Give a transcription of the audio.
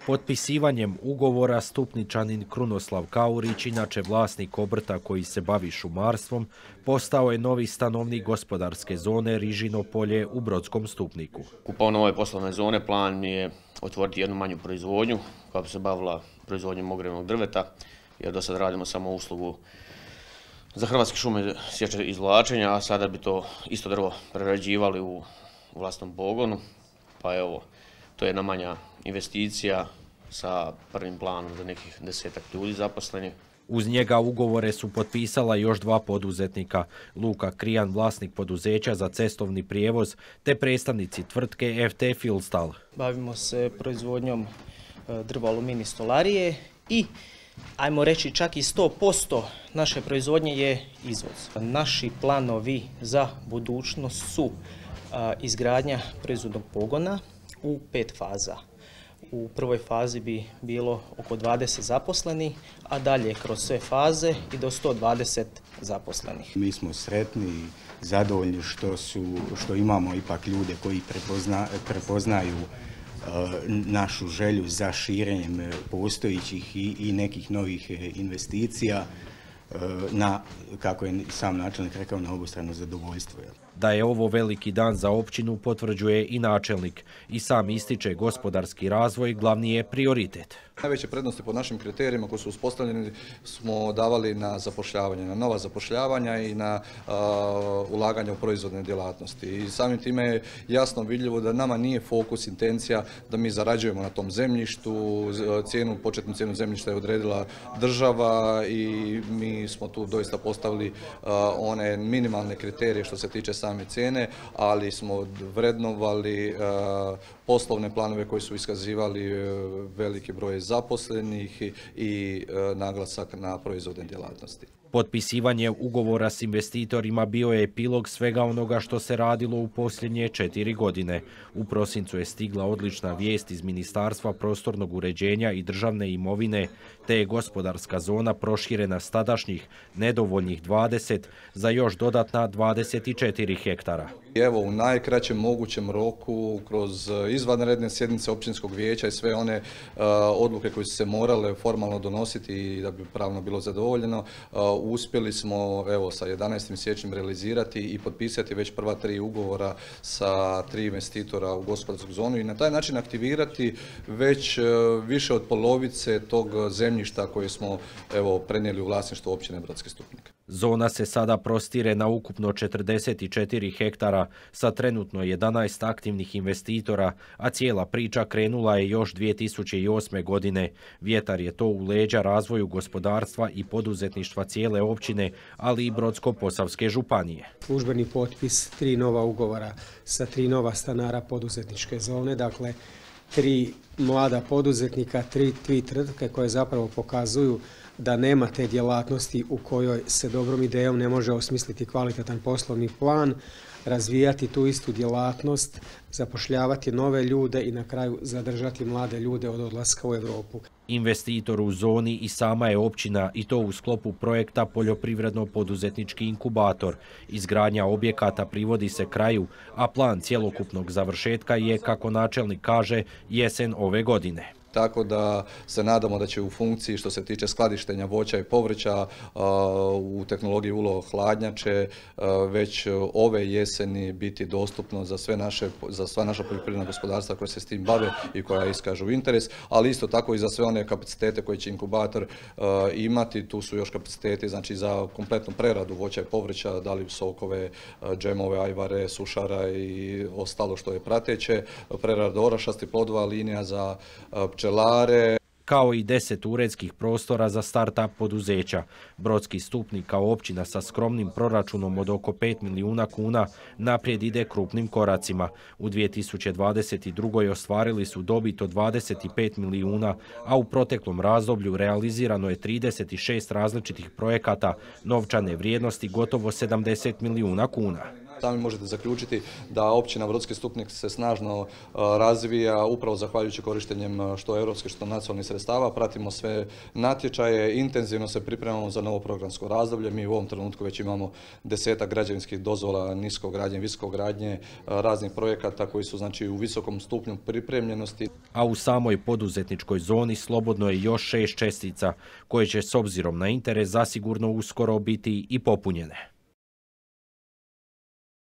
Potpisivanjem ugovora Stupničanin Krunoslav Kaurić, inače vlasnik obrta koji se bavi šumarstvom, postao je novi stanovnik gospodarske zone Rižino polje u Brodskom Stupniku. Kupovno ove poslovne zone plan mi je otvoriti jednu manju proizvodnju koja bi se bavila proizvodnjom ogrjevnog drveta, jer do sad radimo samo uslugu za Hrvatske šume sječe i izvlačenja, a sada bi to isto drvo prerađivali u vlastnom pogonu. Pa evo, to je jedna manja investicija sa prvim planom za nekih 10-ak ljudi zaposlenih. Uz njega ugovore su potpisala još dva poduzetnika, Luka Krijan, vlasnik poduzeća za cestovni prijevoz, te predstavnici tvrtke FT Filstal. Bavimo se proizvodnjom drva aluminij stolarije i ajmo reći čak i 100% naše proizvodnje je izvoz. Naši planovi za budućnost su izgradnja proizvodnog pogona u 5 faza. U prvoj fazi bi bilo oko 20 zaposlenih, a dalje kroz sve faze i do 120 zaposlenih. Mi smo sretni i zadovoljni što imamo ipak ljude koji prepoznaju našu želju za širenjem postojećih i nekih novih investicija kako je sam načelnik rekao, na obostrano zadovoljstvo. Da je ovo veliki dan za općinu potvrđuje i načelnik i sam ističe gospodarski razvoj glavni je prioritet. Najveće prednosti po našim kriterijima koji su uspostavljeni smo davali na zapošljavanje, na nova zapošljavanja i na ulaganje u proizvodne djelatnosti. I samim time je jasno vidljivo da nama nije fokus, intencija da mi zarađujemo na tom zemljištu. Početnu cijenu zemljišta je odredila država i mi smo tu doista postavili one minimalne kriterije što se tiče same cijene, ali smo vrednovali poslovne planove koji su iskazivali veliki broj zaposlenih i naglasak na proizvodne djelatnosti. Potpisivanje ugovora s investitorima bio je epilog svega onoga što se radilo u posljednje 4 godine. U prosincu je stigla odlična vijest iz Ministarstva prostornog uređenja i državne imovine, te je gospodarska zona proširena s tadašnjih nedovoljnih 20 za još dodatna 24 hektara. Evo, u najkraćem mogućem roku, kroz izvanredne sjednice općinskog vijeća i sve one odluke koje su se morale formalno donositi i da bi pravno bilo zadovoljeno, uspjeli smo sa 11. siječnjem realizirati i potpisati već prva 3 ugovora sa 3 investitora u gospodarsku zonu i na taj način aktivirati već više od polovice tog zemljišta koje smo prenijeli u vlasništvo općine Brodski Stupnik. Zona se sada prostire na ukupno 44 hektara sa trenutno 11 aktivnih investitora, a cijela priča krenula je još 2008. godine. Vjetar je to u leđa razvoju gospodarstva i poduzetništva cijele općine, ali i Brodsko-posavske županije. Službeni potpis 3 nova ugovora sa 3 nova stanara poduzetničke zone, dakle 3 mlada poduzetnika, 3 tvrtke koje zapravo pokazuju da nema te djelatnosti u kojoj se dobrom idejom ne može osmisliti kvalitetan poslovni plan, razvijati tu istu djelatnost, zapošljavati nove ljude i na kraju zadržati mlade ljude od odlaska u Europu. Investitor u zoni i sama je općina i to u sklopu projekta Poljoprivredno-poduzetnički inkubator. Izgradnja objekata privodi se kraju, a plan cjelokupnog završetka je, kako načelnik kaže, jesen ove godine. Tako da se nadamo da će u funkciji što se tiče skladištenja voća i povrća u tehnologiji ULO hladnjače već ove jeseni biti dostupno za sva naša poljoprivredna gospodarstva koja se s tim bave i koja iskažu interes, ali isto tako i za sve one kapacitete koje će inkubator imati. Tu su još kapaciteti za kompletnu preradu voća i povrća, da li sokove, džemove, ajvare, sušara i ostalo što je prateće, prerada orašastih plodova, linija za pčelare, kao i 10 uredskih prostora za start-up poduzeća. Brodski Stupnik kao općina sa skromnim proračunom od oko 5 milijuna kuna naprijed ide krupnim koracima. U 2022. ostvarili su dobit od 25 milijuna, a u proteklom razdoblju realizirano je 36 različitih projekata novčane vrijednosti gotovo 70 milijuna kuna. Sami možete zaključiti da općina Brodski Stupnik se snažno razvija upravo zahvaljujući korištenjem što europskih, što nacionalnih sredstava. Pratimo sve natječaje, intenzivno se pripremamo za novo programsko razdoblje. Mi u ovom trenutku već imamo 10 građevinskih dozvola, niskogradnje, visokogradnje, raznih projekata koji su znači u visokom stupnju pripremljenosti. A u samoj poduzetničkoj zoni slobodno je još 6 čestica koje će s obzirom na interes zasigurno uskoro biti i popunjene.